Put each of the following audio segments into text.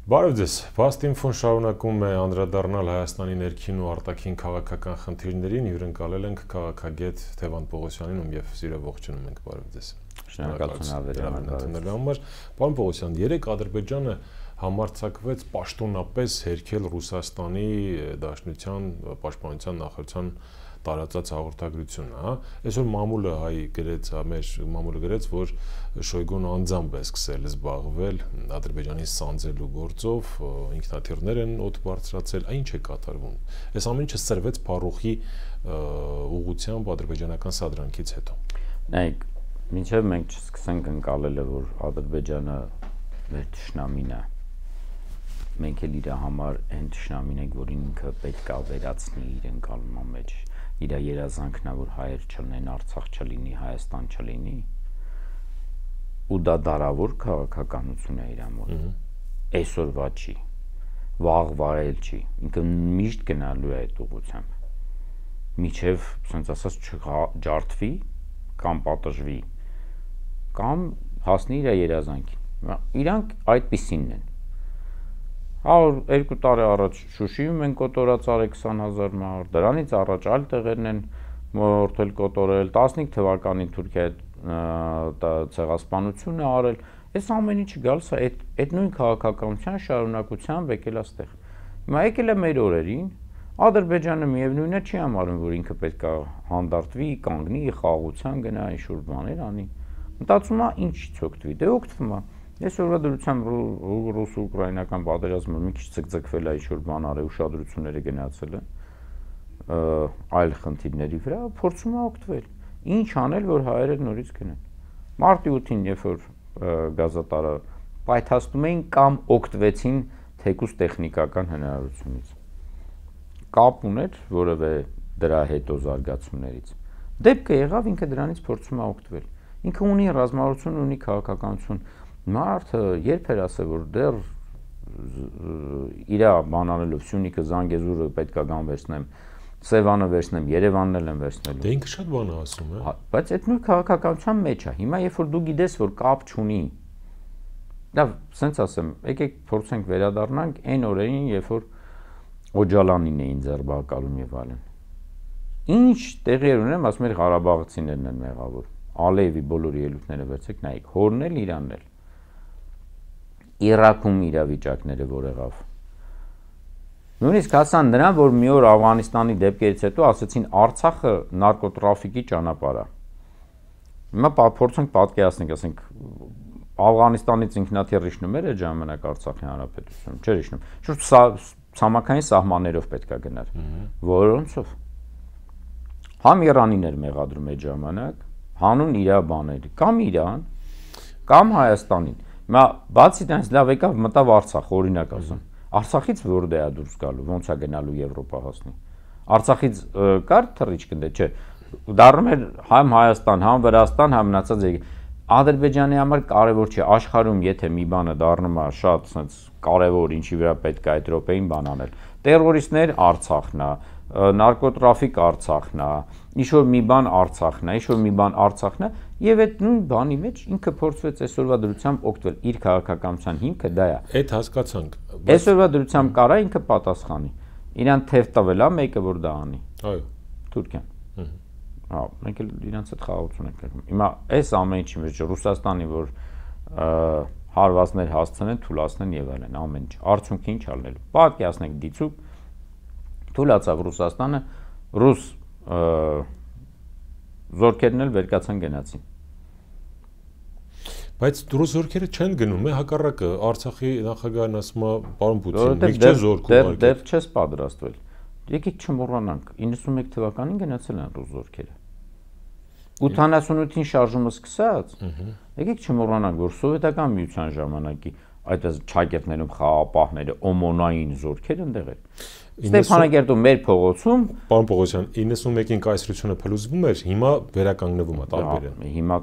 Բարև ձեզ, Բաստինֆոն շարունակում է անդրադառնալ Հայաստանի ներքին ու արտաքին քաղաքական խնդիրներին, հյուրընկալել ենք քաղաքագետ Թևան Պողոսյանին, ում եւ սիրով ողջունում ենք, բարև ձեզ։ Շնորհակալություն համար։ Պարոն Պողոսյան, երեք Ադրբեջանը համարձակվեց պաշտոնապես հերքել Ռուսաստանի Դաշնության պաշտպանության նախարարության տարածած հաղորդագրությունը, հա։ Այսօր մամուլը գրեց, մեր մամուլը գրեց, որ Շոյգուն անձամբ է սկսել զբաղվել Ադրբեջանի սանձելու գործով, ինքնաթիռներ են օդ բարձրացել, ինչ է կատարվում։ Այս ամեն ինչը սրվեց Փարոխի ուղղությամբ ադրբեջանական սադրանքից հետո։ Նայեք, մինչև մենք չսկսենք ընկալելը, որ Ադրբեջանը մեր թշնամին է, մենք էլ իր համար այն թշնամին ենք, որին ինքը պետք է վերացնի իր ընկալման մեջ, իր երազանքն է, որ հայեր չլինեն, Արցախ չլինի, Հայաստան չլինի, ու դա դարավոր քաղաքականություն է իր մոտ։ Այսօրվա չի, վաղվա էլ չի, ինքը միշտ գնալու է այդ ուղղությամբ, միջև, ասենց ասած, չջարդվի կամ պատժվի, կամ հասնի իր երազանքին։ Իրանք այդպիսինն են։ 2 տարի առաջ Շուշիում են կոտորած արել 20,000 մարդ, դրանից առաջ այլ տեղերն են մորթել կոտորել, 15 թվականին Թուրքիա ցեղասպանություն է արել, այս ամեն ինչը գալիս է այդ նույն քաղաքականության շարունակությամբ եկել է այստեղ։ Հիմա եկել է մեր օրերին, Ադրբեջանը միևնույնն է չի համարում, որ ինքը պետք է հանդարտվի, կանգնի, խաղաղության գնա, ինչ-որ բաներ անի։ Մտածում է ինչից օգտվի, դե օգտվում է։ Այսօրվա դրությամբ ռուս-ուկրաինական պատերազմը մի քիչ ցկցկվել է, ինչ-որ բան արել, ուշադրությունները գնացել են այլ խնդիրների վրա, փորձում է օգտվել։ Ինչ անել, որ հայերը նորից գնան։ Մարտի 8-ին, երբ որ գազատարը պայթացնում էին կամ օգտվեցին թեկուզ տեխնիկական հնարավորությունից։ Կապ ուներ որևէ դրա հետո զարգացումներից։ Դեպքը եղավ ինքը դրանից փորձում է օգտվել։ Ինքը ունի ռազմավարություն, ունի քաղաքականություն։ Մարդը երբ էր ասել, որ դեռ իր բան անելով Սյունիքը, Զանգեզուրը պետք է գան վերցնեմ, Սևանը վերցնեմ, Երևանն էլ եմ վերցնելու։ Դե ինքը շատ բան է ասում, է։ Բայց այդ նույն քաղաքականության մեջ է։ Հիմա երբ որ դու գիտես, որ կապ չունի, լավ, սենց ասեմ, եկեք փորձենք վերադառնանք այն օրերին, երբ որ Օջալանին էին ձերբակալում եւ այլն։ Ինչ տեղի էր ունենում, ասում էր Ղարաբաղցիներն են մեղավոր։ Ալիևի բոլոր ելույթները վերցեք, նայեք, հորն էլ Իրանն էլ։ Իրաքում իրավիճակները որ եղավ։ Նույնիսկ հասան նրան, որ մի օր Աֆղանիստանի դեպքերից հետո ասացին Արցախը նարկոտրաֆիկի ճանապարհ է։ Հիմա փորձենք պատկերացնենք, ասենք Աֆղանիստանից ինքնաթիռ իջնում էր այդ ժամանակ Արցախի հանրապետություն, չէր իջնում։ Շուտ ցամաքային սահմաններով պետք է գնար։ Որոնցով։ Համ Իրանին էր մեղադրում այդ ժամանակ, հանուն իր բաների, կամ Իրան, կամ Հայաստանին։ Հիմա բացի դրանից լավ եկավ մտավ Արցախ, օրինակ ասեմ։ Արցախից որտե է դուրս գալու, ոնց է գնալու Եվրոպա հասնի։ Արցախից կար թռիչք ընդ, չէ։ Դառնում էր համ Հայաստան, համ Վրաստան, համ մնացած Ադրբեջանի համար կարևոր չէ, աշխարհում եթե մի բանը դառնում է շատ sense կարևոր, ինչի վրա պետք է այդ րոպեին բան անել։ Տերորիստներ Արցախն է, նարկոտրաֆիկ Արցախն է, ինչ-որ մի բան Արցախն է, ինչ-որ մի բան Արցախն է, եւ այդ նույն բանի մեջ ինքը փորձվեց այսօրվա դրությամբ օգտվել, իր քաղաքականության հիմքը դա է։ Այդ հասկացանք։ Այսօրվա դրությամբ կարա ինքը պատասխանի։ Իրան թեև տվել է մեկը որ դա անի։ Այո։ Թուրքիան։ Հա, մենք էլ իրանց հետ խաղաղություն ենք եղնում։ Հիմա այս ամեն ինչի մեջ Ռուսաստանի որ հարվածներ հասցնեն, թուլացնեն եւ այլն, ամեն ինչ։ Արդյունքը ինչ ալնելու։ Պատկերացնենք դիցուկ թուլացավ Ռուսաստանը, ռուս զորքերն էլ վերկացան գնացին։ Բայց ռուս զորքերը չեն գնում, հակառակը Արցախի նախագահն ասում է, պարոն Պուտին, մի քիչ զորք ուղարկեք։ Դեռ չես պատրաստվել։ Եկեք չմոռանանք, 91 թվականին գնացել են ռուս զորքերը։ 88-ին շարժումը սկսած, եկեք չմոռանանք, որ սովետական միության ժամանակի այդ ճակերտներում խաղապահները, օմոնային զորքեր ընդեղ էր։ Ստեփանագերտում մեր փողոցում, պարոն Պողոսյան, 91-ին կայսրությունը փլուզվում էր, հիմա վերականգնվում է տարբեր են։ Հիմա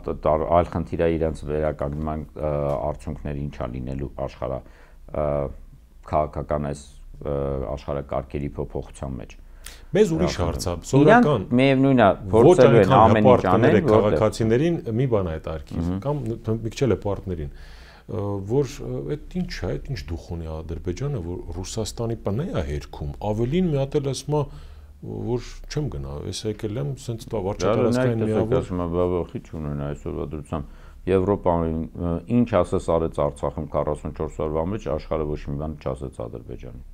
այլ խնդիր է իրենց վերականգնման արդյունքները ինչա լինելու աշխարհ քաղաքական այս աշխարհակարգերի փոփոխության մեջ։ Մեզ ուրիշ հարց է, սովորական։ Միևնույնն է, փորձելու են ամեն ինչ անել, քաղաքացիներին մի բան է այդ արկիվ, կամ մի քիչ էլ է պարտներին։ որ այդ ինչ է, այդ ինչ դուխ ունի Ադրբեջանը, որ Ռուսաստանի պնե է հերքում, ավելին մի հատ էլ ասում է, որ չեմ գնա, ես եկել եմ, սենց տա վարչատարածքային միավոր։ Խիչ ունենա այսօրվա դրությամբ Եվրոպան ինչ ասես արեց Արցախում 44 օրվա մեջ, աշխարհը ոչ մի բան չասեց Ադրբեջանին։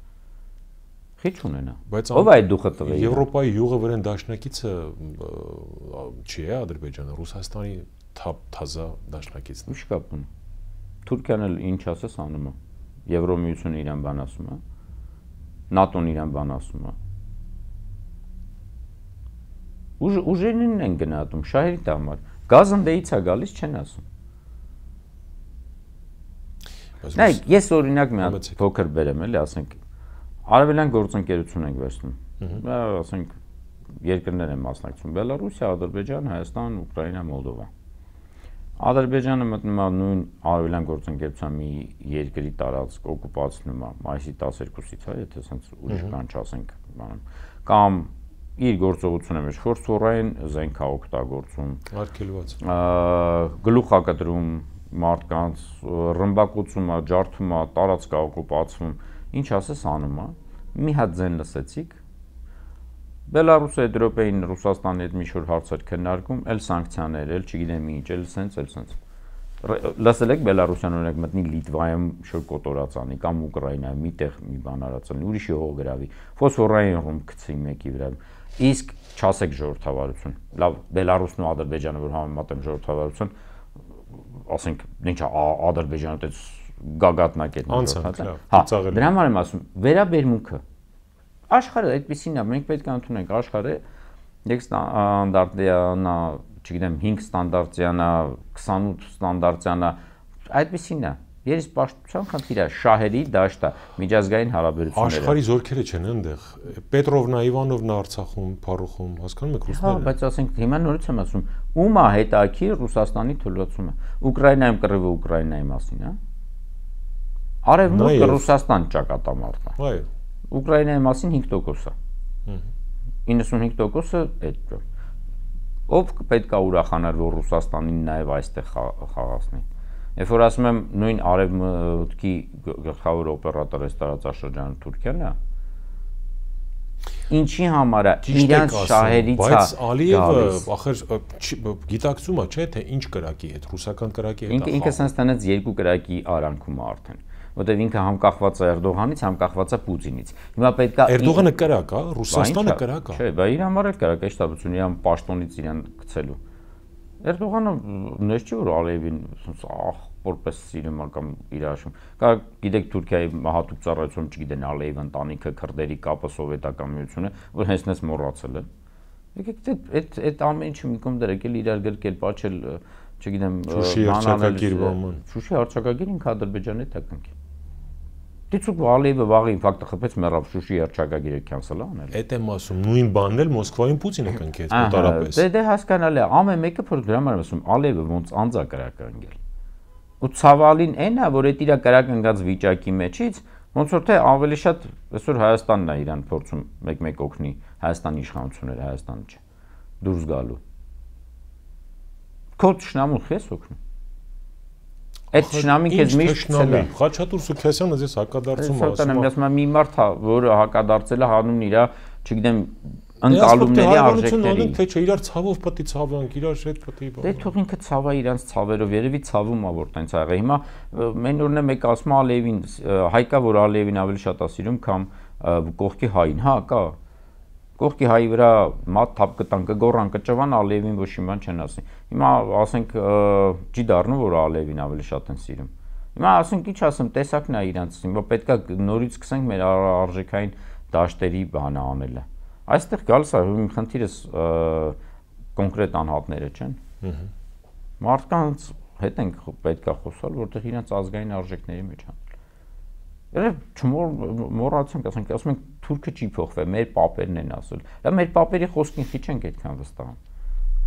Խիչ ունենա։ Ո՞վ է այդ դուխը տվել։ Եվրոպայի յուղը վրան դաշնակիցը չի է Ադրբեջանը, Ռուսաստանի թազա դաշնակիցն։ Ինչ կապ ունի։ Թուրքիան էլ ինչ ասես անում է։ Եվրոմիությունը իրան բան ասում է։ ՆԱՏՕ-ն իրան բան ասում է։ Ուժերին են գնահատում շահերի համար։ Գազն դեից է գալիս չեն ասում։ Նայեք, ես օրինակ մի հատ փոքր բերեմ, էլի, ասենք, արևելյան գործընկերություն ենք վերցնում։ Ասենք, երկրներ են մասնակցում՝ Բելարուսիա, Ադրբեջան, Հայաստան, Ուկրաինա, Մոլդովա։ Ադրբեջանը մտնում է նույն արևելյան գործընկերության մի երկրի տարածք օկուպացնում է մայիսի 12-ից, հա, եթե ասենք ուրիշ բան չասենք, կամ իր գործողությունը մեջ ֆորսորային զենք է օգտագործում, արգելված, գլուխակտրում մարդկանց, ռմբակոծում է, ջարդում է, տարածք է օկուպացվում, ինչ ասես անում է, մի հատ ձեն լսեցիք, Բելարուսը Եվրոպային Ռուսաստանի հետ մի շուտ հարցեր քննարկում, էլ սանկցիաներ, էլ չգիտեմ ինչ, էլ սենց։ Լսել եք Բելարուսյան օրինակ մտնի Լիտվայում շուտ կոտորածանի կամ Ուկրաինայում միտեղ մի բան արածանի, ուրիշի հող գրավի, ֆոսֆորային ռումբ գցի մեկի վրա։ Իսկ չասեք ժողովրդավարություն։ Լավ, Բելարուսն ու Ադրբեջանը որ համեմատեմ ժողովրդավարություն, ասենք, ինչ Ադրբեջանը դες գագաթնակետն է։ Հա, դրա համար եմ ասում, վերաբերմունքը աշխարհը այդպեսին է, մենք պետք է ընդունենք աշխարհը եք ստանդարտյանա, չգիտեմ 5 ստանդարտյանա, 28 ստանդարտյանա, այդպեսին է։ Երեսպաշտության խնդիրը շահերի դաշտ է, միջազգային հարաբերությունները։ Աշխարհի զորքերը չեն այնտեղ։ Պետրովնա, Իվանովնա Արցախում, Փարուխում, հասկանում եք ռուսները։ Հա, բայց ասենք հիմա նորից եմ ասում, ում է հետաքրքիր Ռուսաստանի թույլատվությունը։ Ուկրաինայում կռիվը Ուկրաինայի մասին, հա։ Արևմուտքը Ռուսաստան ճակատամարտ է։ Այո։ Ուկրաինայի մասին 5% է։ 95%-ը այդ։ Ով պետք է ուրախանար, որ Ռուսաստանին նաև այստեղ խաղացնի։ Երբ որ ասում եմ նույն արևմուտքի գլխավոր օպերատորը տարածաշրջանը Թուրքիան է, ինչի համար է իրանց շահերից է։ Բայց Ալիևը ախր գիտակցում է, չէ՞, թե ինչ կրակի հետ, ռուսական կրակի հետ է։ Ինքը sense տնեց երկու կրակի արանքում է արդեն, որտեղ ինքը համ կախված է Էրդողանից, համ կախված է Պուտինից։ Հիմա պետք է Էրդողանը կրակ է, Ռուսաստանը կրակ է։ Չէ, բա իր համար էլ կրակ է, շտաբություն իրան պաշտոնից իրան գցելու։ Էրդողանը նես չի որ Ալիևին որպես սիրում է կամ իր հաշվում։ Կա գիտեք Թուրքիայի հատուկ ծառայություն, չգիտեն Ալիև ընտանիքը, քրդերի կապը սովետական միությունը, որ հենց մոռացել է։ Եկեք այդ ամեն ինչը մի կողմ դրեք, իրար գրկել, պատչել, չգիտեմ, Շուշի հռչակագիր ինքը Ադրբեջանի հետ է կնքի։ Դիցուկ Ալիևը վաղի ինֆակտը խփեց մեռավ Շուշի հռչակագիրը քանսել անել։ Էդ եմ ասում, նույն բանն էլ Մոսկվայում Պուտինը կնքեց մոտարապես։ Դե հասկանալի է, ամեն մեկը որ դրա համար ասում Ալիևը ոնց անձա կրականգել։ Ու ցավալին այն է, որ այդ իր կրակնգած վիճակի մեջից ոնց որ թե ավելի շատ այսօր Հայաստանն է իրան փորձում մեկ-մեկ օգնի Հայաստանի իշխանությունները, Հայաստանը չէ, դուրս գալու։ Քո ճշնամուն քեզ օգնում։ Այդ ճշնամին քեզ միշտ ցել է։ Խաչատուր Սուքիասյանը ձեզ հակադարձում ասում է։ Ասում եմ մի մարդ է, որը հակադարձել է հանուն իր, չգիտեմ, ընկալումների արժեքների։ Թե չէ, իրար ցավով պետք է ցավանք, իրար հետ պետք է։ Դե թող ինքը ցավա իրանց ցավերով, երևի ցավում է որ տենց աղա։ Հիմա մեն օրն է մեկ ասում Ալիևին, հայկա որ Ալիևին ավելի շատ է սիրում, քան կողքի հային, հա, կա։ Կողքի հայի վրա մատ թափ կտան, կգոռան, կճվան Ալիևին ոչ մի բան չեն ասի։ Հիմա ասենք չի դառնում որ Ալիևին ավելի շատ են սիրում։ Հիմա ասենք ինչ ասեմ, տեսակն է իրանց, հիմա պետքա նորից սկսենք մեր արժեքային դաշտերի բանը անելը։ Այստեղ գալիս է իմ խնդիրս կոնկրետ անհատները չեն։ Մարդկանց հետ ենք պետքա խոսալ, որտեղ իրանց ազգային արժեքների մեջ են։ Երբ չմոռացանք, ասում ենք թուրքը չի փոխվել, մեր պապերն են ասել։ Դա մեր պապերի խոսքին քիչ ենք այդքան վստահում։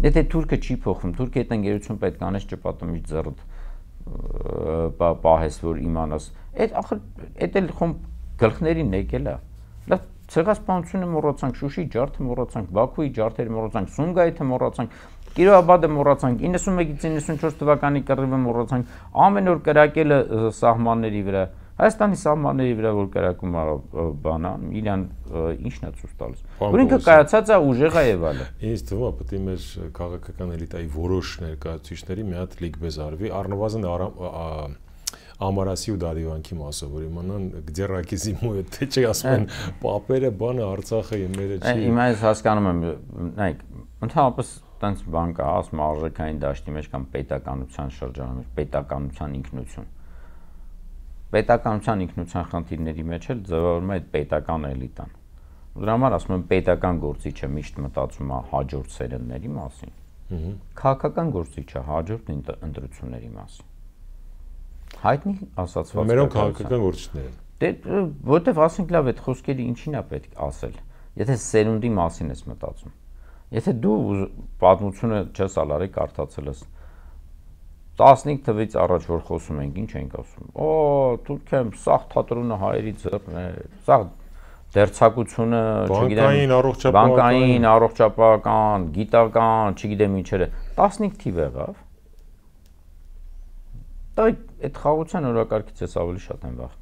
Եթե թուրքը չի փոխվում, թուրքի հետ ընկերություն պետք է անես ճպատը մի ձեռդ պահես, որ իմանաս։ Այդ ախր այդ էլ խոմ գլխներին եկել է։ Լավ ցեղասպանությունը մոռացանք, Շուշի ջարդը մոռացանք, Բաքուի ջարդերը մոռացանք, Սումգայիթը մոռացանք։ Կիրովաբադը մոռացանք, 91-ից 94 թվականի կռիվը մոռացանք, ամեն օր կրակելը սահմանների վրա, Հայաստանի սահմանների վրա որ կրակում բանա, իրան ինչն է ցույց տալիս։ Որ ինքը կայացած է ուժեղ է եւ այլն։ Ինձ թվում է պետք է մեր քաղաքական էլիտայի որոշ ներկայացուցիչների մի հատ լիգբեզ արվի, առնվազն Ամարասի ու Դադիվանքի մասը, որ իմանան գդերակի զիմոյը թե չի ասում են պապերը բանը Արցախը իմերը չի։ Հիմա ես հասկանում եմ, նայեք, ընդհանրապես տենց բան կա, ասում արժեքային դաշտի մեջ կամ պետականության շրջանում մեջ, պետականության ինքնություն։ Պետականության ինքնության խնդիրների մեջ էլ ձևավորվում է այդ պետական էլիտան։ Դրա համար ասում եմ պետական գործիչը միշտ մտածում է հաջորդ սերնդների մասին։ Քաղաքական գործիչը հաջորդ ընտրությունների մասին։ Հայտնի ասացված մերոնք քաղաքական գործիչներ են։ Դե որտեվ ասենք լավ այդ խոսքերը ինչին է պետք ասել։ Եթե սերունդի մասին ես մտածում։ Եթե դու պատմությունը չես ալարի կարդացել ես 15 թվականից առաջ որ խոսում ենք, ինչ ենք ասում։ Օ, Թուրքիայում սաղ թատրոնը հայերի ձեռն է, սաղ դերձակությունը, չգիտեմ, բանկային, առողջապահական, գիտական, չգիտեմ ինչերը, 15 թիվ եղավ։ Դա այդ խաղացան օրակարգից էս ավելի շատ են վախ։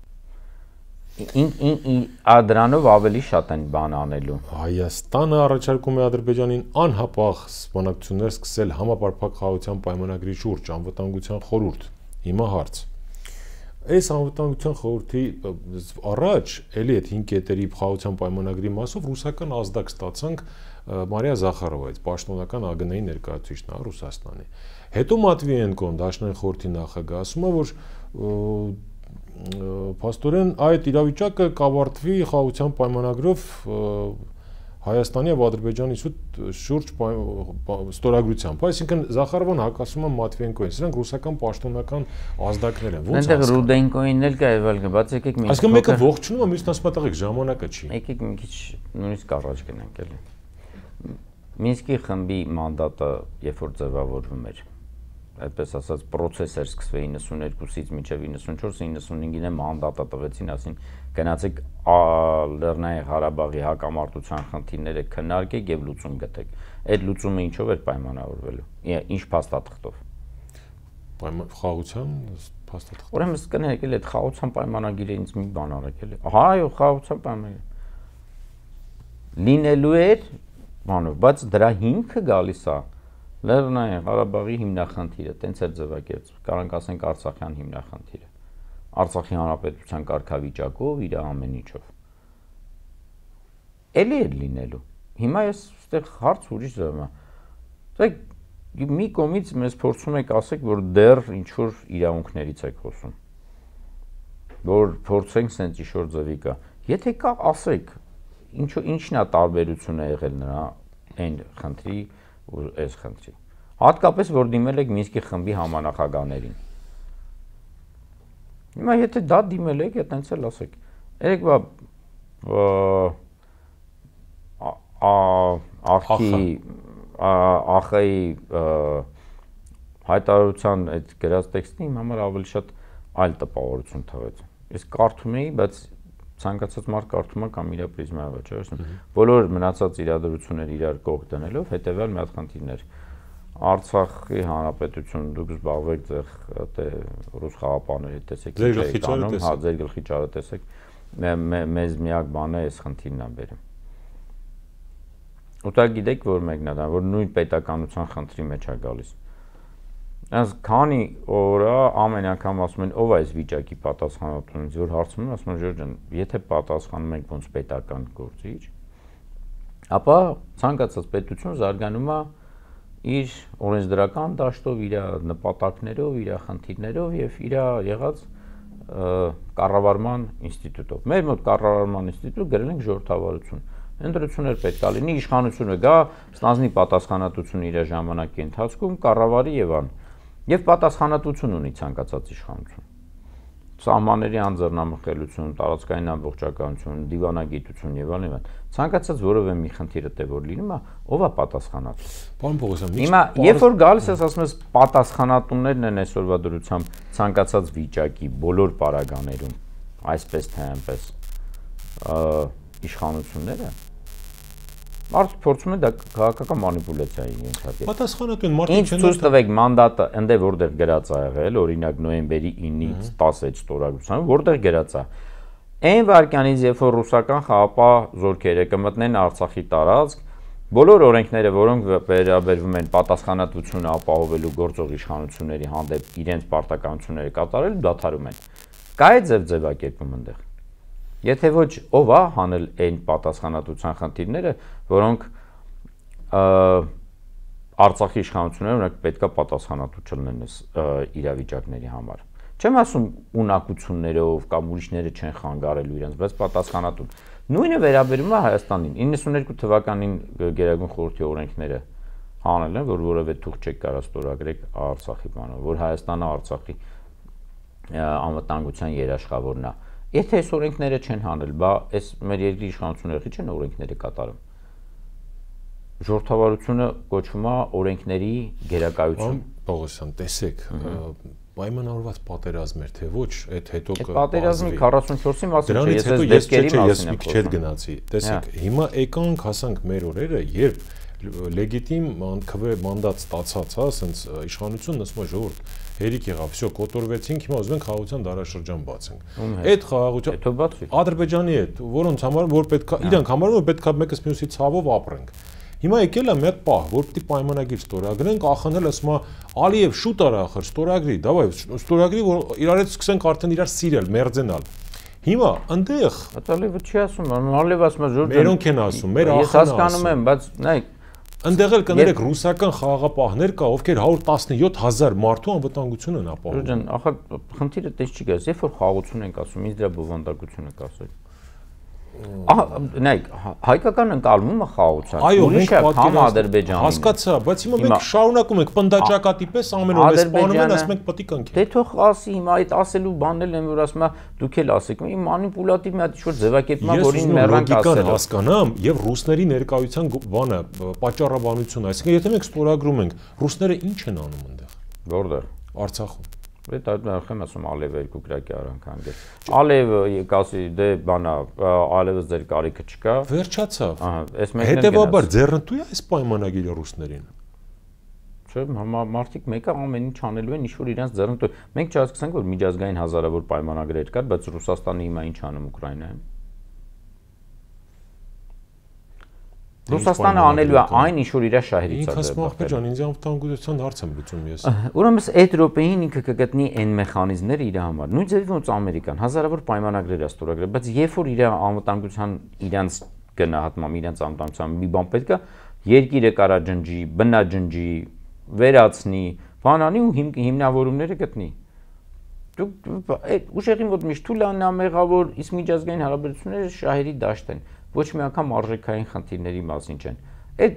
Դրանով ավելի շատ են բան անելու։ Հայաստանը առաջարկում է Ադրբեջանին անհապաղ բանակցություններ սկսել համապարփակ խաղաղության պայմանագրի շուրջ, անվտանգության խորհուրդ։ Հիմա հարց։ Այս անվտանգության խորհրդի առաջ էլի այդ 5 կետերի խաղաղության պայմանագրի մասով ռուսական ազդակ ստացանք Մարիա Զախարովայից, պաշտոնական ԱԳՆ-ի ներկայացուցիչն է Ռուսաստանի։ Հետո Մատվիենկոն, Դաշնային խորհրդի նախագահ, ասում է, որ փաստորեն այդ իրավիճակը կավարտվի խաղաղության պայմանագրով Հայաստանի եւ Ադրբեջանի շուրջ ստորագրությամբ։ Այսինքն Զախարովն հակասում է Մատվիենկոին, սրանք ռուսական պաշտոնական ազդակներ են։ Ոնց Այնտեղ Ռուդենկոին էլ կա եւ այլն, բայց եկեք մի Այսինքն մեկը ողջունում է, մյուսն ասում է տղեկ ժամանակը չի։ Եկեք մի քիչ նույնիսկ առաջ գնանք էլի։ Մինսկի խմբի մանդատը երբ որ ձևավորվում էր, այդպես ասած process էր սկսվել 92-ից մինչև 94-95-ին է մանդատը տվեցին, ասին գնացեք Լեռնային Ղարաբաղի հակամարտության խնդիրները քննարկեք եւ լուծում գտեք։ Այդ լուծումը ինչով էր պայմանավորվելու։ Ինչ փաստաթղթով։ Խաղաղության փաստաթղթ։ Ուրեմն կներեք էլ այդ խաղաղության պայմանագիրը ինձ մի բան արեք էլի։ Ահա, այո, խաղաղության պայմանագիր։ Լինելու էր բանով, բայց դրա հիմքը գալիս է Լեռնային Ղարաբաղի հիմնախնդիրը, տենց էր ձևակերպ, կարանք ասենք Արցախյան հիմնախնդիրը, Արցախի հանրապետության կարգավիճակով, իր ամեն ինչով։ Էլի էր լինելու։ Հիմա ես այստեղ հարց ուրիշ ձևում է։ Մի կողմից մեզ փորձում եք ասեք, որ դեռ ինչ-որ իրավունքներից եք խոսում, որ փորձենք սենց ինչ-որ ձևի կա։ Եթե կա, ասեք, ինչն է տարբերությունը եղել նրա այն խնդրի ու այս խնդրի։ Հատկապես որ դիմել եք Մինսկի խմբի համանախագահներին։ Հիմա եթե դա դիմել եք, այտենց էլ ասեք։ Երեկվա ԱԽ-ի հայտարարության այդ գրած տեքստը իմ համար ավելի շատ այլ տպավորություն թվեց։ Ես կարդում էի, բայց ցանկացած մարդ կարդում է կամ իր պրիզմայով է, չէ՞։ Բոլոր մնացած իրադրությունները իրար կողք դնելով հետեւյալ մի հատ խնդիրներ։ Արցախի հանրապետություն դուք զբաղվեք ձեր ռուս խաղապաների տեսեք, հա, ձեր գլխի ճարը տեսեք, մեզ միակ բանը էս խնդիրն է բերում։ Ու դա գիտեք որ մեկն է դա, որ նույն պետականության խնդրի մեջ է գալիս։ Այս քանի օրա ամեն անգամ ասում են ով է այս վիճակի պատասխանատուն, որ հարցնում եմ, ասում են Ժորժ ջան, եթե պատասխանում եք ոնց պետական գործիչ, ապա ցանկացած պետություն զարգանում է իր օրենսդրական դաշտով, իր նպատակներով, իր խնդիրներով եւ իր եղած կառավարման ինստիտուտով։ Մեր մոտ կառավարման ինստիտուտ գրել ենք ժողովրդավարություն։ Ընտրություններ պետք է լինի, իշխանությունը գա, ստանձնի պատասխանատվություն իր ժամանակի ընթացքում, կառավարի եւ ան։ Եվ պատասխանատվություն ունի ցանկացած իշխանություն։ Սահմանների անձեռնամխելիություն, տարածքային ամբողջականություն, դիվանագիտություն եւ այլն։ Ցանկացած որևէ մի խնդիրը թե որ լինում է, ով է պատասխանատու։ Պարոն Պողոսյան, հիմա երբ որ գալիս ես ասում ես պատասխանատուներն են այսօրվա դրությամբ ցանկացած վիճակի բոլոր պարագաներում, այսպես թե այնպես իշխանությունները, Մարդը փորձում է դա քաղաքական մանիպուլյացիայի ենթարկել։ Պատասխանատուն մարդիկ չեն։ Ինչ ցույց տվեք մանդատը, ընդ որտեղ գրած ա եղել, օրինակ նոյեմբերի 9-ից 16 ստորագրությամբ, որտեղ գրած ա։ Այն վարքյանից, երբ որ ռուսական խաղապահ զորքերը կմտնեն Արցախի տարածք, բոլոր օրենքները, որոնք վերաբերվում են պատասխանատվությունը ապահովելու գործող իշխանությունների հանդեպ իրենց պարտականությունները կատարելու, դադարում են։ Կա է ձևակերպում այնտեղ։ Եթե ոչ, ով է հանել այն պատասխանատվության խնդիրները, որոնք Արցախի իշխանությունները օրինակ պետքա պատասխանատու չլինեն իրավիճակների համար։ Չեմ ասում ունակություններով կամ ուրիշները չեն խանգարելու իրենց, բայց պատասխանատուն։ Նույնը վերաբերում է Հայաստանին։ 92 թվականին Գերագույն խորհրդի օրենքները հանել են, որ որևէ թուղթ չեք կարող ստորագրել Արցախի բանով, որ Հայաստանը Արցախի անվտանգության երաշխավորն է։ Եթե այս օրենքները չեն հանել, բա այս մեր երկրի իշխանությունները չեն օրենքները կատարում։ Ժողովրդավարությունը կոչվում է օրենքների գերակայություն։ Պողոսյան, տեսեք, պայմանավորված պատերազմ էր, թե ոչ, այդ հետո պատերազմի 44-ի մասին չէ, ես դեպքերի մասին եմ խոսում։ Ես գնացի։ Տեսեք, հիմա եկանք հասանք մեր օրերը, երբ լեգիտիմ մանդատ ստացած, հա, ասենց իշխանությունն ասում է ժողովուրդ հերիք եղավ, всё, կոտորվեցինք, հիմա ուզում ենք խաղաղության դարաշրջան բացենք։ Այդ խաղաղության Ադրբեջանի հետ, որոնց համար որ պետքա իրանք համարում են պետքա մեկս մյուսի ցավով ապրենք։ Հիմա եկել է մի հատ պահ, որ պիտի պայմանագիր ստորագրենք, ախանել ասում է Ալիև շուտ արա ախր ստորագրի, դավայ ստորագրի, որ իրար հետ սկսենք արդեն իրար սիրել, մերձենալ։ Հիմա այնտեղ Ալիևը չի ասում, Ալիևը ասում է ժողովուրդ մերոնք են ասում, մեր ախանը։ Ես հասկանում եմ, բայց նայեք Այնտեղ էլ կներեք ռուսական խաղաղապահներ կա, ովքեր 117,000 մարդու անվտանգություն են ապահովում։ Ջան, ախր խնդիրը դες չի գալիս, երբ որ խաղաղություն ենք ասում, ինձ դրա բովանդակությունը կասել։ Նայեք, հայկական ընկալումը խաղաղության։ Այո, մենք համ Ադրբեջանի։ Հասկացա, բայց հիմա մենք շարունակում ենք պնդաճակատի պես ամեն օր սպանում են, ասում ենք պետք անքի։ Դե թող ասի, հիմա այդ ասելու բանել են, որ ասում է դուք էլ ասեք, մի մանիպուլատիվ մի հատ ինչ-որ ձևակերպում է, որին մեռանք ասել։ Ես հասկանամ, եւ ռուսների ներկայության բանը, պատճառաբանությունը, այսինքն եթե մենք ստորագրում ենք, ռուսները ինչ են անում այնտեղ։ Որտեղ։ Արցախում։ Այդ այդքան ասում Ալիևը երկու գրակի արանք հանգել։ Ալիևը կասի դե բանա, Ալիևը ձեր կարիքը չկա։ Վերջացավ։ Ահա, այս մեկն է։ Հետևաբար ձեռնտու է այս պայմանագիրը ռուսներին։ Չէ, մարդիկ մեկը ամեն ինչ անելու են, ինչ որ իրենց ձեռնտու։ Մենք չհասկացանք, որ միջազգային հազարավոր պայմանագրեր կար, բայց Ռուսաստանը հիմա ինչ անում Ուկրաինայում։ Ռուսաստանը անելու է այն, ինչ որ իր շահերից է։ Ինքս մախբեր ջան, ինձ անվտանգության հարց եմ լուծում ես։ Ուրեմն այդ րոպեին ինքը կգտնի այն մեխանիզմները իր համար։ Նույն ձևի ոնց Ամերիկան հազարավոր պայմանագրեր է ստորագրել, բայց երբ որ իր անվտանգության իրենց գնահատմամբ, իրենց անվտանգության մի բան պետք է, երկիրը կարա ջնջի, բնաջնջի, վերացնի, բանանի ու հիմնավորումները գտնի։ Դուք այդ ուժեղին մոտ միշտ թուլանա մեղավոր, իսկ միջազգային հարաբերությունները շահերի դաշտ են։ Ոչ մի անգամ արժեքային խնդիրների մասին չեն։ Այդ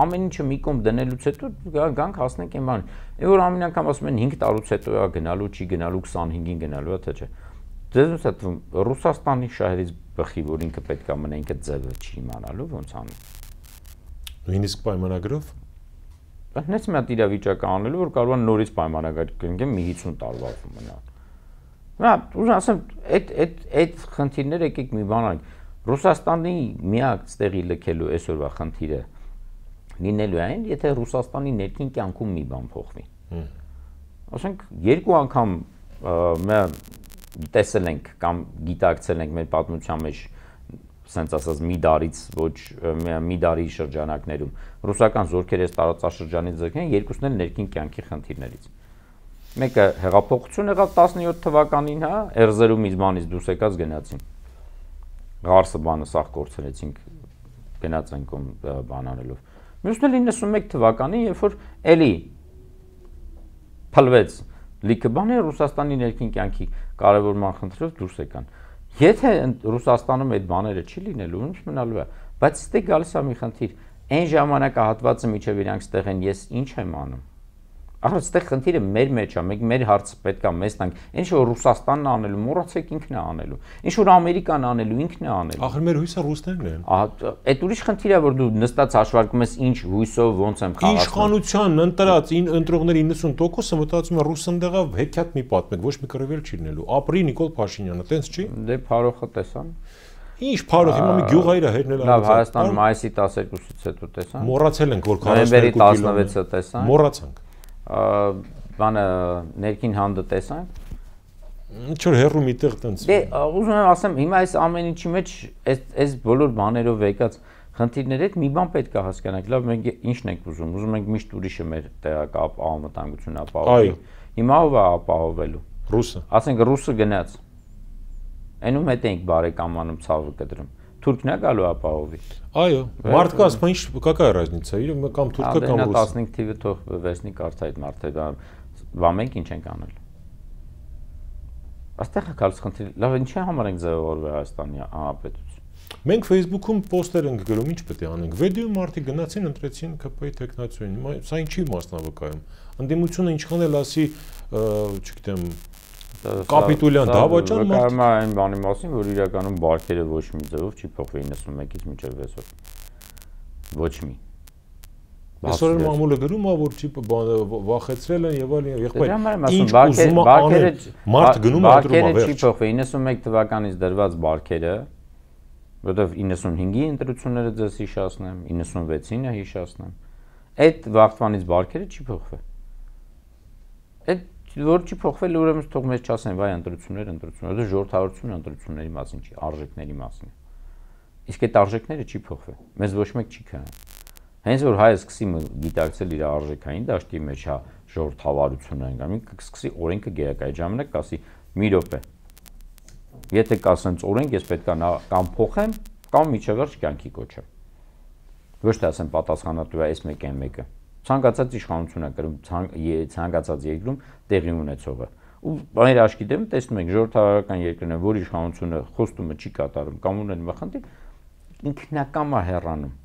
ամեն ինչը մի կողմ դնելուց հետո գանք հասնենք այն բանին։ Այն որ ամեն անգամ ասում են 5 տարուց հետո է գնալու, չի գնալու 25-ին գնալու է, թե չէ։ Ձեզ ոնց է թվում Ռուսաստանի շահերից բխի, որ ինքը պետք է մնա ինքը ձևը չի իմանալու ոնց անի։ Նույնիսկ պայմանագրով։ Հենց մի հատ իրավիճակ անելու, որ կարող է նորից պայմանագիր կնքեն մի 50 տարվա մնա։ Նա ուզում ասեմ, այդ խնդիրները եկեք մի բան անենք։ Ռուսաստանի միակ ստեղի լքելու այսօրվա խնդիրը լինելու է այն, եթե Ռուսաստանի ներքին կյանքում մի բան փոխվի։ Ասենք երկու անգամ տեսել ենք կամ գիտակցել ենք մեր պատմության մեջ, ասենց ասած մի դարից ոչ մի դարի շրջանակներում ռուսական զորքերը տարածաշրջանից ձգեն, երկուսն էլ ներքին կյանքի խնդիրներից։ Մեկը հեղափոխություն եղավ 17 թվականին, հա, Էրզերու միզմանից դուրս եկած գնացին։ Ղարսը բանը սաղ կորցրեցինք, գնացենք բան անելով։ Մյուսն էլ 91 թվականին, երբ որ էլի փլվեց լիքը բաներ Ռուսաստանի ներքին կյանքի կարևորման խնդրով դուրս եկան։ Եթե Ռուսաստանում այդ բաները չի լինելու, ինչ մնալու է, բայց ստե գալիս է մի խնդիր։ Այն ժամանակահատվածը միջև իրանք ստեղ են, ես ինչ եմ անում։ Ահա այստեղ խնդիրը մեր մեջ է, մեր հարցը պետք է մեզ տանք։ Ինչ որ Ռուսաստանն անելու, մոռացեք ինքն է անելու։ Ինչ որ Ամերիկան անելու, ինքն է անելու։ Ախր մեր հույսը ռուսներն են։ Ահա այդ ուրիշ խնդիր է, որ դու նստած հաշվարկում ես ինչ հույսով ոնց եմ խաղացնում։ Իշխանության ընտրած ընտրողների 90%-ը մտածում է ռուսնդեղը հեքիաթ մի պատմեք, ոչ մի կռվել չի լինելու։ Ապրի Նիկոլ Փաշինյանը, տենց չի։ Դե Փարոխը տեսան։ Ինչ փարոց, հիմա մի գյուղ այրա հերնել արած։ Լավ, Հայաստան մայիսի 12-ից հետո տեսանք։ Մոռացել ենք, որ 42 16-ը տեսանք։ Մոռացանք։ Բանը ներքին հանդը տեսանք։ Ինչ որ հերրու միտեղ տենց։ Դե ուզում եմ ասեմ, հիմա այս ամեն ինչի մեջ այս բոլոր բաներով եկած խնդիրների հետ մի բան պետք է հասկանանք։ Լավ, մենք ի՞նչն ենք ուզում։ Ուզում ենք միշտ ուրիշը մեր տեղակապ անվտանգություն ապահովի։ Հիմա ով է ապահովելու։ Ռուսը։ Ասենք ռուսը գնաց։ Այնու հետ ենք բարեկամանում ցավը կտրում։ Թուրքն է գալու ապահովի։ Այո, մարդ կա, ասում ինչ какая разница, իր կամ թուրքը կամ ռուսը։ 15 թիվը թող վերցնի կարծա այդ մարդը, բա մենք ինչ ենք անել։ Այստեղ է գալիս խնդիր, լավ, ինչի համար ենք ձևավորվել Հայաստանի Հանրապետություն։ Մենք Facebook-ում պոստեր ենք գրում, ինչ պետք է անենք։ Վեդիոյում մարդիկ գնացին, ընտրեցին ԿՊ-ի տեխնացիային։ Սա ինչի մասնավկայում։ Ընդդիմությունը ինչքան էլ ասի, չգիտեմ, կապիտուլյան դավաճան մարդ։ Կարմա այն բանի մասին, որ իրականում բարքերը ոչ մի ձևով չի փոխվել 91-ից մինչև 6 օր։ Ոչ մի։ Այսօր մամուլը գրում է, որ չի վախեցրել են եւ այլն, եղբայր։ Ինչ ուզում է մարդ գնում է դրում է վերջ։ Չի փոխվել 91 թվականից դրված բարքերը, որովհետեւ 95-ի ընտրությունները ձեզ հիշացնեմ, 96-ինը հիշացնեմ։ Այդ վաղտվանից բարքերը չի փոխվել։ Այդ որ չի փոխվել, ուրեմն թող մեզ չասեն, վայ ընտրություններ, դա ժողովրդավարությունը ընտրությունների մասին չի, արժեքների մասին է։ Իսկ այդ արժեքները չի փոխվել։ Մեզ ոչ մեկ չի քան։ Հենց որ հայը սկսի գիտակցել իր արժեքային դաշտի մեջ հա ժողովրդավարությունը անգամ կսկսի օրենքը գերակայ ժամանակ կասի մի րոպե։ Եթե կասենց օրենք, ես պետք է կամ փոխեմ, կամ միջևերջ կյանքի կոչեմ։ Ոչ թե ասեմ պատասխանատու է այս մեկը այն մեկը։ Ցանկացած իշխանություն է կրում ցանկացած երկրում տեղի ունեցողը։ Ու մեր աչքի դեմ տեսնում ենք ժողովրդավարական երկրներ, որ իշխանությունը խոստումը չի կատարում կամ ունեն մխնդիր, ինքնակամ է հեռանում։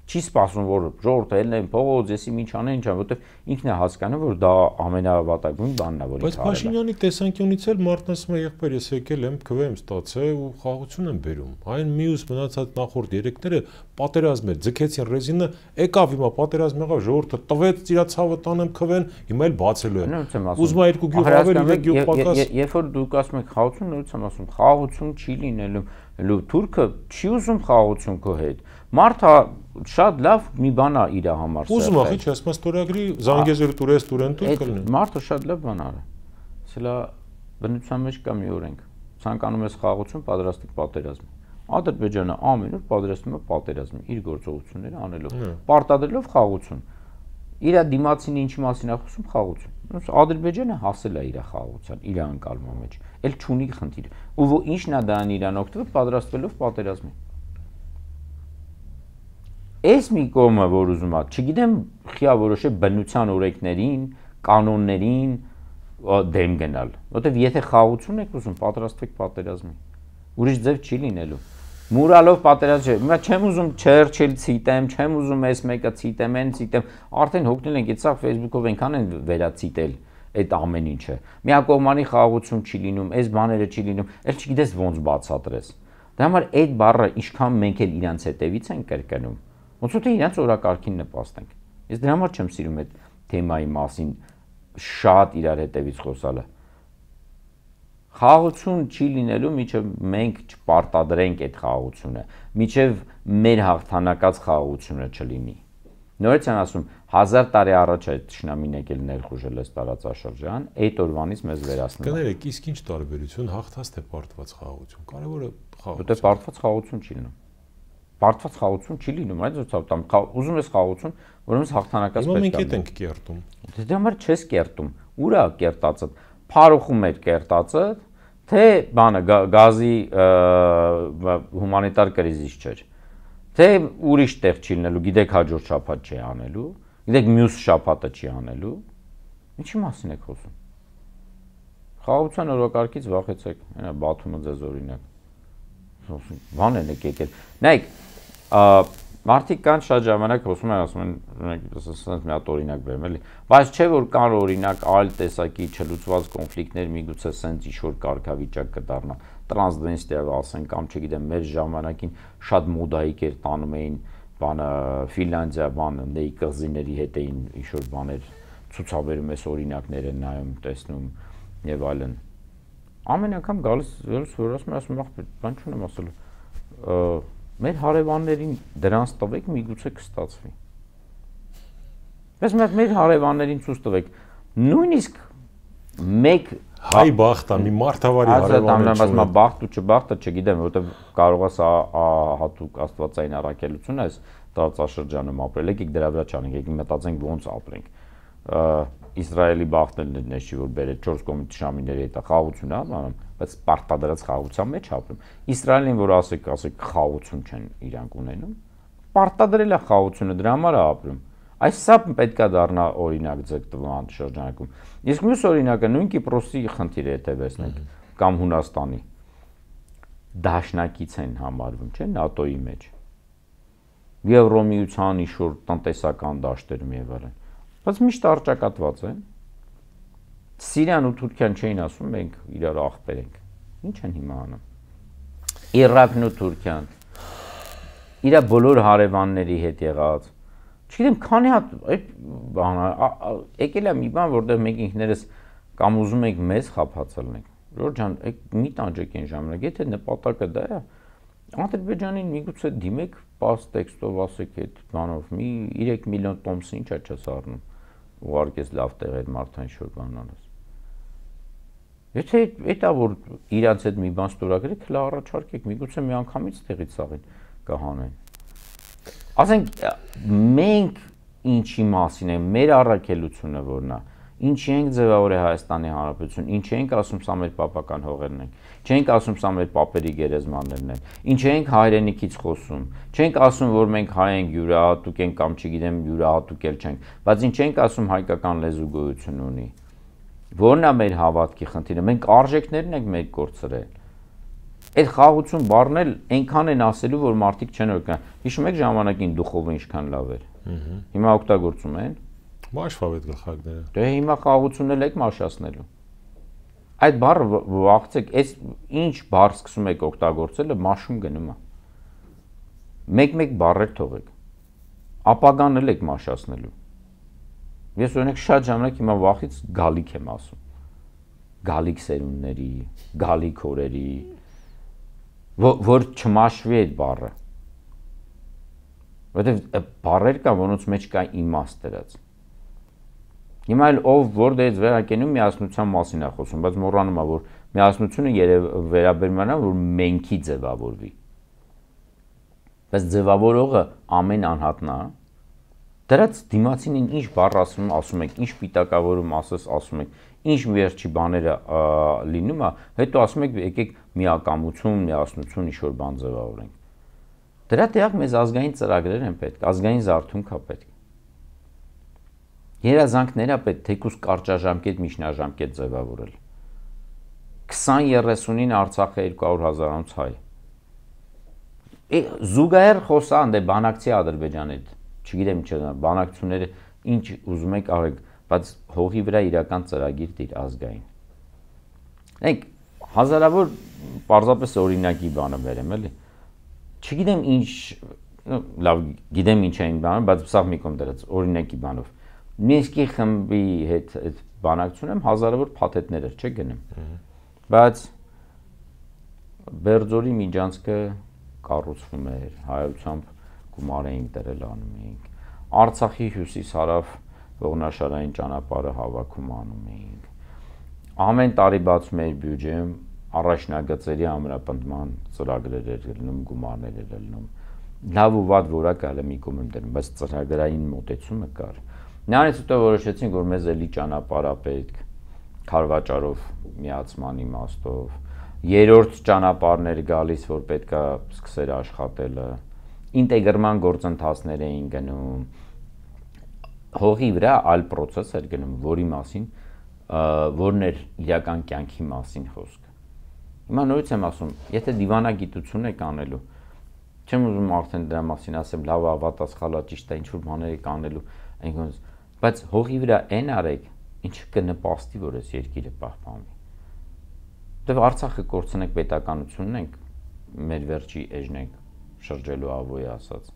Չի սպասում, որ ժողովուրդը ելնեն փողոց, եսի ինչ անեն, ինչ ան, որտեվ ինքն է հասկանում, որ դա ամենավատագույն բանն է, որ ինքը արել է։ Բայց Փաշինյանի տեսանկյունից էլ մարդն ասում է, եղբայր, ես եկել եմ, քվե եմ ստացել ու խաղաղություն եմ բերում։ Այն մյուս մնացած նախորդ երեքները պատերազմ էր, ձգեցին ռեզինը, եկավ հիմա պատերազմ եղավ, ժողովուրդը տվեց իր ցավը տանեմ քվեն, հիմա էլ բացելու է։ Ուզում է երկու գյուղ ավել, իրեք գյուղ պակաս։ Երբ որ դուք ասում եք խաղաղություն, նորից եմ ասում, խաղաղություն չի լինելու, թուրքը չի ուզում խաղաղություն քո հետ։ Մարդը շատ լավ մի բան է իր համար։ Ուզում է, չի, ասում ստորագրի Զանգեզուրի տուրեն կլինի։ Մարդը շատ լավ բան արի։ Սա բնության մեջ կա մի օրենք։ Ցանկանում ես խաղաղություն, պատրաստիկ պատերազմի։ Ադրբեջանը ամեն օր պատրաստում է պատերազմի իր գործողությունները անելով, պարտադրելով խաղաղություն։ Իր դիմացին ինչի մասին է խոսում խաղաղություն։ Ադրբեջանը հասել է իր խաղաղության, իր անկալման մեջ։ Էլ չունի խնդիր։ Ու ինչն է դրան իրան օգտվել պատրաստվելով պատերազմի։ Այս մի կողմը, որ ուզում է, չգիտեմ, խիա որոշե բնության օրենքներին, կանոններին դեմ գնալ, որտեվ եթե խաղաղություն եք ուզում, պատրաստվեք պատերազմի։ Ուրիշ ձև չի լինելու։ Մուրալով պատերազմ չէ։ Հիմա չեմ ուզում Չերչիլ ցիտեմ, չեմ ուզում այս մեկը ցիտեմ, այն ցիտեմ։ Արդեն հոգնել ենք, այդ Facebook-ով այնքան են վերացիտել այդ ամեն ինչը։ Միակողմանի խաղաղություն չի լինում, այս բաները չի լինում, էլ չգիտես ոնց բացատրես։ Դրա համար այդ բառը ինչքան մենք էլ իրանց հետևից ենք կրկնում։ Ոնց որ թե իրանց օրակարգին նպաստենք։ Ես դրա համար չեմ սիրում այդ թեմայի մասին շատ իրար հետևից խոսալը։ Խաղաղություն չի լինելու, մինչև մենք չպարտադրենք այդ խաղաղությունը, մինչև մեր հաղթանակած խաղաղությունը չլինի։ Նորից եմ ասում, 1000 տարի առաջ այդ թշնամին եկել ներխուժել այս տարածաշրջան, այդ օրվանից մեզ վերացնում է։ Կներեք, իսկ ինչ տարբերություն հաղթած թե պարտված խաղաղություն։ Կարևորը խաղաղություն։ Որտե պարտված խաղաղություն չի լինում։ Պարտված խաղաղություն չի լինում, այդ ոցով ուզում ես խաղաղություն, որոնց հաղթանակած պետք է։ Մենք հետ ենք կերտում։ Դրա համար չես կերտում։ Ուրա կերտածը։ Փարուխում էր կերտածը, թե բանը գազի հումանիտար կրիզիս չէր։ Թե ուրիշ տեղ չի լինելու, գիտեք հաջորդ շաբաթ չի անելու, գիտեք մյուս շաբաթը չի անելու։ Ինչի մասին եք խոսում։ Խաղաղության օրակարգից վախեցեք, հենա Բաթումը ձեզ օրինակ։ Բան են եկել։ Նայեք, մարդիկ կան շատ ժամանակ խոսում են, ասում են, ասենք մի հատ օրինակ բերեմ, էլի, բայց չէ որ կան օրինակ այլ տեսակի չլուծված կոնֆլիկտներ, միգուցե սենց ինչ-որ կարգավիճակ կդառնա, տրանսդենստիա ասեն կամ չգիտեմ, մեր ժամանակին շատ մոդայիկ էր տանում էին, բանը Ֆինլանդիա, բանը նեի կղզիների հետ էին ինչ-որ բաներ ցուցաբերում, այս օրինակներ են նայում, տեսնում եւ այլն։ Ամեն անգամ գալիս որ ասում եմ, բան չունեմ ասելու։ մեր հարևաններին դրանց տվեք, միգուցե կստացվի։ Բայց մեր հարևաններին ցույց տվեք, նույնիսկ մեկ հայ բախտա, մի մարդավարի հարևանություն։ Ասում բախտ ու չբախտը չգիտեմ, որովհետև կարող է սա հատուկ աստվածային առաքելություն է, այս տարածաշրջանում ապրել, եկեք դրա վրա չանենք, եկեք մտածենք ոնց ապրենք։ Իսրայելի բախտն էլ չի որ բերել 4 կողմից թշնամիների հետ խաղաղություն է անում, բայց պարտադրած խաղաղության մեջ ապրում։ Իսրայելին որ ասեք խաղաղություն չեն իրանք ունենում, պարտադրել է խաղաղությունը, դրա համար է ապրում։ Այս սա պետք է դառնա օրինակ ձգտման շրջանակում։ Իսկ մյուս օրինակը նույն Կիպրոսի խնդիրը հետևեցնենք կամ Հունաստանի դաշնակից են համարվում, չէ՞, ՆԱՏՕ-ի մեջ։ Եվրոմիության իշոր տնտեսական դաշտերում եւ այլն։ Բայց միշտ արճակատված են։ Սիրիան ու Թուրքիան չէին ասում, մենք իրար ախպեր ենք։ Ինչ են հիմա անում։ Իրաքն ու Թուրքիան իր բոլոր հարևանների հետ եղած չգիտեմ, քանի հատ այդ բանը եկել է մի բան, որտեղ մենք ինքներս կամ ուզում ենք մեզ խափացնենք։ Ժորժ ջան, մի տանջեք այն ժամանակ, եթե նպատակը դա է, Ադրբեջանին միգուցե դիմեք պաս տեքստով ասեք այդ բանով, մի 3 միլիոն տոմսը ինչա չես առնում, ուղարկես լավ տեղ այդ մարդան շոր բան անես։ Եթե դա որ իրանց հետ մի բան ստորագրեք, հլա առաջարկեք, միգուցե մի անգամից տեղից սաղին կհանեն։ Ասենք մենք ինչի մասին է, մեր առաքելությունը որն է, ինչի ենք ձևավորել Հայաստանի Հանրապետություն, ինչի ենք ասում սա մեր պապական հողերն են, չենք ասում սա մեր պապերի գերեզմաններն են, ինչի ենք հայրենիքից խոսում, չենք ասում որ մենք հայ ենք յուրահատուկ ենք կամ չգիտեմ յուրահատուկ էլ չենք, բայց ինչ ենք ասում հայկական լեզու գոյություն ունի։ Որն է մեր հավատքի խնդիրը, մենք արժեքներն ենք մեր կորցրել։ Այդ խաղաղություն բառն էլ այնքան են ասելու, որ մարդիկ չեն օրգան։ Հիշում եք ժամանակին դուխովը ինչքան լավ էր։ Հիմա օգտագործում են։ Մաշվավետ գլխարկները։ Դե հիմա խաղաղությունն էլ եք մաշացնելու։ Այդ բառը վախցեք, այս ինչ բառ սկսում եք օգտագործելը մաշում գնում է։ Մեկ-մեկ բառեր թողեք։ Ապագան էլ եք մաշացնելու։ Ես օրինակ շատ ժամանակ հիմա վախից գալիք եմ ասում։ Գալիք սերունդների, գալիք օրերի, որ չմաշվի այդ բառը։ Որովհետև բառեր կան, որոնց մեջ կա իմաստ դրած։ Հիմա էլ ով որտեղից վերակենում միասնության մասին է խոսում, բայց մոռանում է, որ միասնությունը վերաբերում է, որ մենքի ձևավորվի։ Բայց ձևավորողը ամեն անհատնա, դրած դիմացին ինչ բառ ասում եք, ինչ պիտակավորում ասում եք, ինչ վերջի բաները լինում է, հետո ասում եք եկեք միակամություն, միասնություն ինչ-որ բան ձևավորենք։ Դրա տեղակ մեզ ազգային ծրագրեր են պետք, ազգային զարթոնք է պետք։ Երազանքներ է պետք, թեկուզ կարճաժամկետ, միջնաժամկետ ձևավորել։ 20-30-ին Արցախը 200,000-անոց հայ։ Զուգահեռ խոսան դե բանակցի Ադրբեջանի հետ, չգիտեմ ինչ բանակցությունները ինչ ուզում եք արեք, բայց հողի վրա իրական ծրագիր դիր ազգային։ Ենք հազարավոր պարզապես օրինակի բանը վերեմ էլի։ Չգիտեմ ինչ, լավ գիտեմ ինչ էին բանը, բայց սա մի կողմ դրած օրինակի բանով։ Մինսկի խմբի հետ այդ բանակցությունում եմ հազարավոր փաթեթներ էր, չէ՞ գնում։ Բայց Բերձորի միջանցքը կառուցվում էր, հայությամբ գումար էինք դրել անում էինք։ Արցախի հյուսիս-հարավ ողնաշարային ճանապարհը հավաքում անում էինք։ Ամեն տարի բացում էր բյուջեում առաջնագծերի ամրապնդման ծրագրեր էր լինում, գումարներ էր լինում։ Լավ ու վատ որակը հələ մի կողմ եմ դնում, բայց ծրագրային մոտեցումը կար։ Նրանից հետո որոշեցինք, որ մեզ էլի ճանապարհ պետք, քարվաճարով միացման իմաստով, երրորդ ճանապարհներ գալիս, որ պետքա սկսեր աշխատելը, ինտեգրման գործընթացներ էին գնում, հողի վրա այլ process էր գնում, որի մասին, որն էր իրական կյանքի մասին խոսքը։ Հիմա նորից եմ ասում, եթե դիվանագիտություն եք անելու, չեմ ուզում արդեն դրա մասին ասեմ, լավ ավատա սխալա ճիշտ է, ինչ-որ բաներ եք անելու, այնքան, բայց հողի վրա այն արեք, ինչը կնպաստի, որ այս երկիրը պահպանվի։ Դե Արցախը կորցնենք պետականությունն ենք, մեր վերջի էջն ենք շրջելու ավոյի ասած։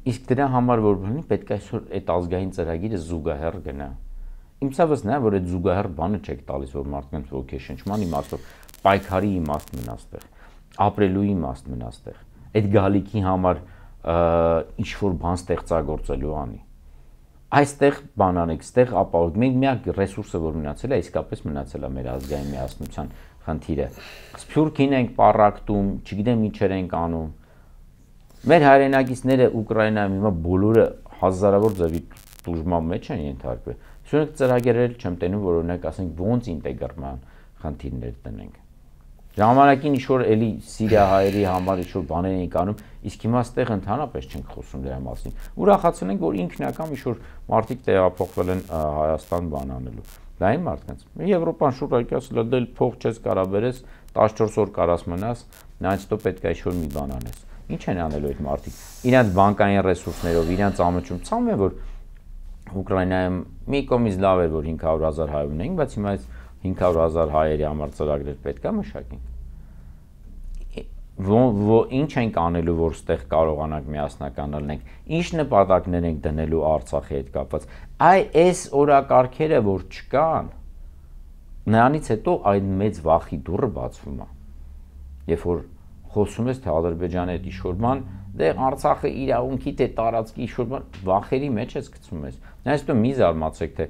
Իսկ դրա համար որ բանի պետք է այսօր այդ ազգային ծրագիրը զուգահեռ գնա։ Իմ ցավս նա որ այդ զուգահեռ բանը չեք տալիս որ մարդկանց ոգեշնչման իմաստով պայքարի իմաստ մնա այստեղ։ ապրելու իմաստ մնա այդտեղ։ Այդ գալիքի համար ինչ որ բան ստեղծագործելու անի։ Այստեղ բան անեք, այստեղ ապահով։ Մենք միակ ռեսուրսը, որ մնացել է, իսկապես մնացել է մեր ազգային միասնության խնդիրը։ Սփյուռքին ենք պառակտում, չգիտեմ ինչեր ենք անում։ Մեր հայրենակիցները Ուկրաինայում հիմա բոլորը հազարավոր ձևի տուժման մեջ են ենթարկվել։ Սրանք ծրագրեր չեմ տենում, որ օրինակ ասենք ոնց ինտեգրման խնդիրներ տնենք։ Ժամանակին ինչ-որ էլի սիրիահայերի համար ինչ-որ բաներ ենք անում, իսկ հիմա այստեղ ընդհանրապես չենք խոսում դրա մասին։ Ուրախացել ենք, որ ինքնական ինչ-որ մարդիկ տեղափոխվել են Հայաստան բան անելու։ Դա այն մարդկանց։ Եվրոպան շուտ ասել է, դե փող չես կարա բերես, 14 օր կարաս մնաս, նայած դու պետք է ինչ-որ մի բան անես։ Ինչ են անելու այդ մարդիկ։ Իրանց բանկային ռեսուրսներով, իրանց ամաչում ցավում է, որ Ուկրաինայում մի կողմից լավ էր, որ 500,000 հայ ունենք, բայց հիմա այս 500,000 հայերի համար ծրագրեր պետք է մշակենք։ Ինչ ենք անելու, որ ստեղ կարողանանք միասնական լինենք, ինչ նպատակներ ենք դնելու Արցախի հետ կապված։ Այս օրակարգերը, որ չկան, նրանից հետո այն մեծ վախի դուռը բացվում է։ Երբ որ խոսում ես թե Ադրբեջանի հետ ինչ-որ բան, դե Արցախը իրավունքի թե տարածքի ինչ-որ բան վախերի մեջ ես գցում ես։ Նայես դու մի զարմացեք, թե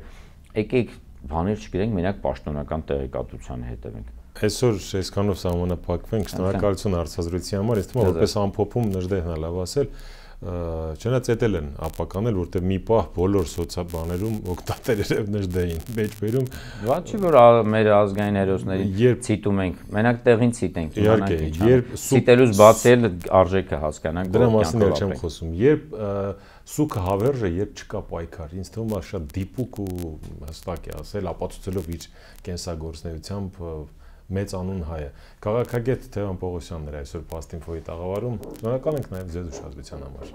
եկեք բաներ չգրենք, մենակ պաշտոնական տեղեկատվությանը հետևենք։ Այսօր այսքանով սահմանափակվենք, շնորհակալություն հարցազրույցի համար, ես թվում է որպես ամփոփում Նժդեհն է լավ ասել, չնայած էտել են ապականել, որտեղ մի պահ բոլոր սոցիալբաներում օգտատերերը Նժդեհին մեջ բերում։ Ոչ չի որ մեր ազգային հերոսներին ցիտում ենք, մենակ տեղին ցիտենք, իհարկե, երբ ցիտելուց բացի էլ արժեքը հասկանանք, դրա մասին էլ չեմ խոսում, երբ սուքը հավերժ է, երբ չկա պայքար, ինձ թվում է շատ դիպուկ ու հստակ է ասել, ապացուցելով իր կենսագործունեությամբ մեծ անուն հայը։ Քաղաքագետ Թևան Պողոսյանն էր այսօր Past-Info-ի տաղավարում։ Շնորհակալ ենք նաև ձեզ ուշադրության համար։